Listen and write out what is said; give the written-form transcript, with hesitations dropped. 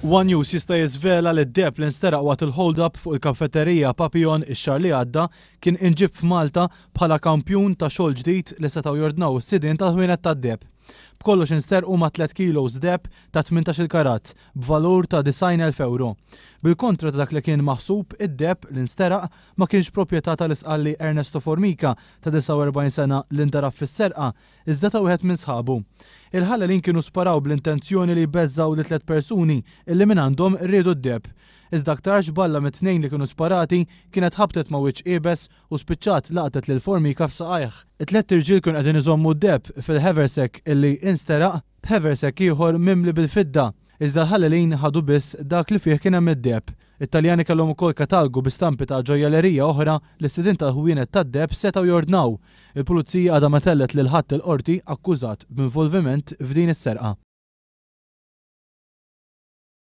One News jista' jiżvela li d-deheb li nsteraq waqt il-hold-up fuq il-kafeterija Papillon ix-xahar li għadda kien inġieb f'Malta bħala kampjun ta' xogħol ġdid li setgħu jordnaw is-sidien tal-ħwienet tad-deheb. B'kollox insterqu ma' tliet kilos deheb ta' 18-il karat b'valur ta' 90,000 ewro. Bil-kontra ta' dak li kien maħsub, id-deheb li nsteraq ma kienx proprjetà tal-Isqalli Ernesto Formica ta' 49 sena li ndarab fis-serqa iżda ta' wieħed minn sħabu. Il-ħallelin kienu sparaw bl-intenzjoni li jbeżżgħu li tliet persuni illi mingħandhom riedu d-deheb. Iżda aktarx balla mit-tnejn li kienu sparati kienet ħabtet ma' wiċċ iebes u spiċċat laqtet lil Formica f'saqajh. It-tlett irġiel kienu qegħdin iżommu d-deheb fil-haversack illi insteraq b'haversack ieħor mimli bil-fidda. Iżda l-ħallelin ħadu biss dak li fih kien hemm id-deheb. It-Taljani kellhom ukoll katalgu bi stampi ta' ġojjelerija oħra li s-sidien tal-ħwienet tad-deheb setgħu jordnaw. Il-Pulizija għadha ma tellgħet lil ħadd il-Qorti akkużat b'involviment f'din is-serqa.